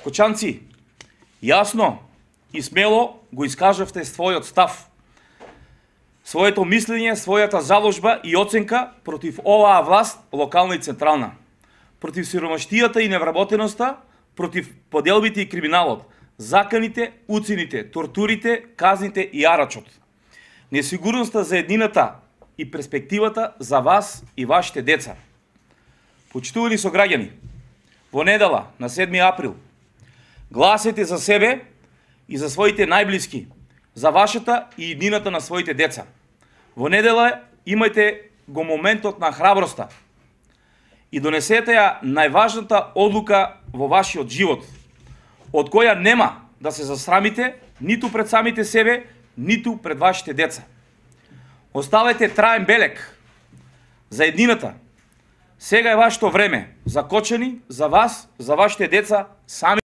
Кочанци, јасно и смело го искажавте својот став, своето мислење, својата заложба и оценка против оваа власт, локална и централна, против сиромаштијата и невработеноста, против поделбите и криминалот, заканите, уцените, тортурите, казните и арачот, несигурноста за еднината и перспективата за вас и вашите деца. Почитувани сограѓани, во недела на 7 април, гласете за себе и за своите најблиски, за вашата и еднината на своите деца. Во недела имајте го моментот на храброста и донесете ја најважната одлука во вашиот живот, од која нема да се засрамите ниту пред самите себе, ниту пред вашите деца. Оставете траен белег за еднината. Сега е вашето време за Кочани, за вас, за вашите деца, сами